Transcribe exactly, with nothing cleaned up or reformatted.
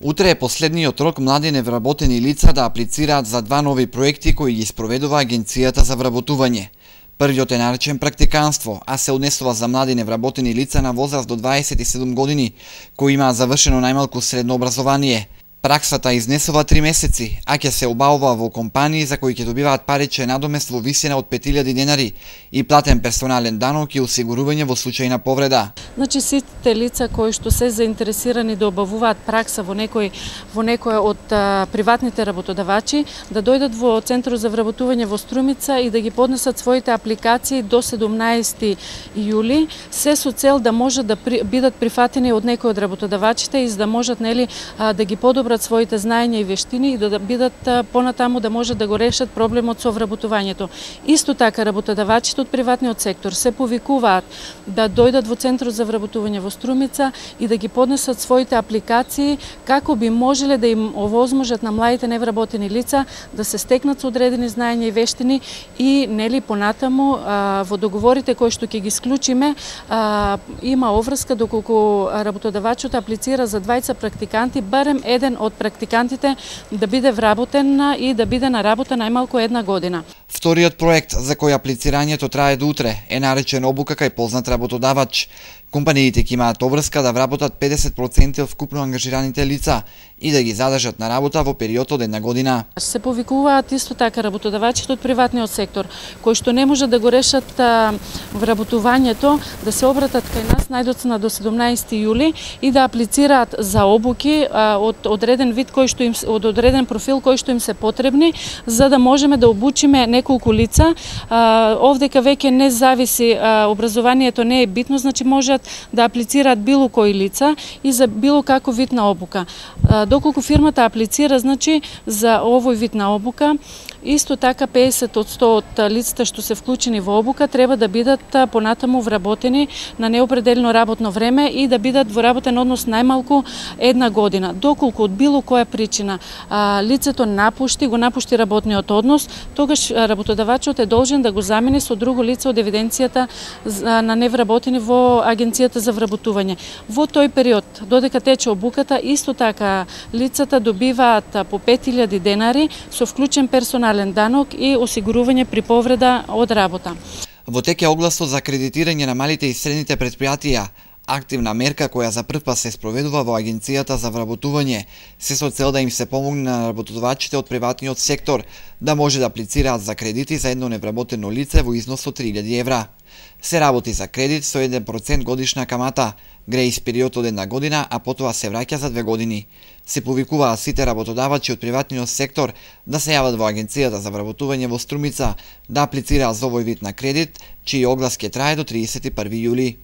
Утре е последниот рок млади невработени лица да аплицираат за два нови проекти кои ги спроведува Агенцијата за вработување. Првиот е наречен практиканство, а се однесува за млади невработени лица на возраст до дваесет и седум години, кои имаат завршено најмалку средно образование. Праксата изнесува три месеци, а ќе се обавува во компании за кои ќе добиваат паричен надомест во висина од пет илјади денари и платен персонален данок и осигурување во случај на повреда. Значи сите лица кои што се заинтересирани да обавуваат пракса во некој во некој од а, приватните работодавачи да дојдат во Центарот за вработување во Струмица и да ги поднесат своите апликации до седумнаесети јули, се со цел да можат да при, бидат прифатени од некој од работодавачите и за да можат нели а, да ги подобрат своите знаења и вештини и да, да бидат понатаму да можат да го решат проблемот со вработувањето. Исто така работодавачите од приватниот сектор се повикуваат да дојдат во Центарот за вработување во Струмица и да ги поднесат своите апликации како би можеле да им овозможат на младите невработени лица да се стекнат со одредени знаења и вештини и нели понатаму а, во договорите кои што ќе ги склучиме а, има оврска доколку работодавачот аплицира за двајца практиканти, барем еден од практикантите да биде вработен и да биде на работа најмалку една година. Вториот проект за кој аплицирањето трае до утре е наречен обука кај познат работодавач. Компаниите ќе имаат обврска да вработат педесет проценти од вкупно ангажираните лица и да ги задржат на работа во период од една година. Се повикуваат исто така работодавачите од приватниот сектор, кои што не можат да го решат а, вработувањето, да се обратат кај нас најдоцна до седумнаесети јули и да аплицираат за обуки а, од одреден вид кој што им од одреден профил кој што им се потребни, за да можеме да обучиме неколку лица. А, овдека веќе не зависи а, образованието не е битно, значи можат да аплицираат било кои лица и за било каков вид на обука. Доколку фирмата аплицира, значи, за овој вид на обука, исто така педесет од сто од лицата што се вклучени во обука треба да бидат понатаму вработени на неопределено работно време и да бидат во работен однос најмалку една година. Доколку од било која причина а, лицето напушти, го напушти работниот однос, тогаш работодавачот е должен да го замени со друго лице од евиденцијата на невработени во Агенцијата за вработување. Во тој период, додека тече обуката, исто така лицата добиваат по пет илјади денари со вклучен персонален данок и осигурување при повреда од работа. Во тек е огласот за кредитирање на малите и средните претпријатија, активна мерка која за прв пат се спроведува во Агенцијата за вработување, се со цел да им се помогне на работодавачите од приватниот сектор да може да аплицираат за кредити за едно невработено лице во износ од три илјади евра. Се работи за кредит со еден процент годишна камата, грејс период од една година, а потоа се враќа за две години. Се повикуваат сите работодавачи од приватниот сектор да се јават во Агенцијата за вработување во Струмица да аплицираат за овој вид на кредит, чиј оглас ќе трае до триесет и први јули.